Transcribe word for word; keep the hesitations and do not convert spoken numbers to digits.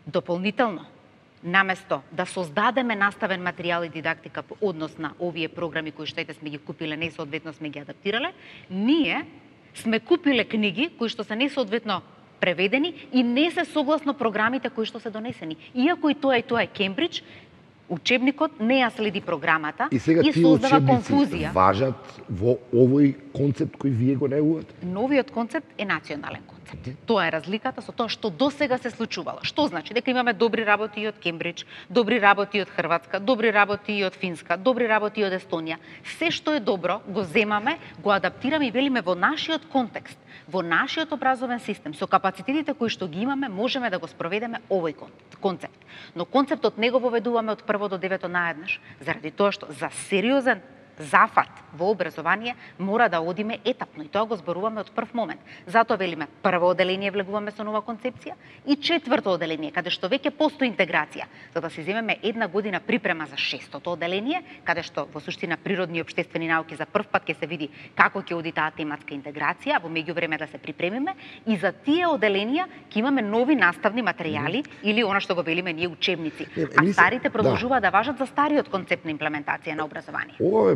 Дополнително, наместо да создадеме наставен материјал и дидактика по однос на овие програми кои што ете сме ги купиле, несоодветно сме ги адаптирале, ние сме купиле книги кои што се несоодветно преведени и не се согласно програмите кои што се донесени. Иако и тоа и тоа е Кембридж, учебникот не ја следи програмата и, сега и создава конфузија. Важат во овој концепт кој вие го неувате? Новиот концепт е национален концепт. Тоа е разликата со тоа што досега се случувало. Што значи? Дека имаме добри работи и од Кембридж, добри работи и од Хрватска, добри работи и од Финска, добри работи и од Естонија. Се што е добро го земаме, го адаптираме и велиме во нашиот контекст, во нашиот образовен систем, со капацитетите кои што ги имаме, можеме да го спроведеме овој концепт. Но концептот не го воведуваме од прво до девето наеднаш, заради тоа што за сериозен зафат во образование мора да одиме етапно и тоа го зборуваме од прв момент. Затоа велиме прво оделение влегуваме со нова концепција и четврто оделение каде што веќе постои интеграција, за да се земеме една година припрема за шестото оделение, каде што во суштина природни и општествени науки за прв пат ќе се види како ќе оди таа тематска интеграција, во меѓувреме да се припремиме и за тие оделенија ќе имаме нови наставни материјали или она што го велиме ние учебници, а старите продолжуваат да, да важат за стариот концепт на имплементација на образование.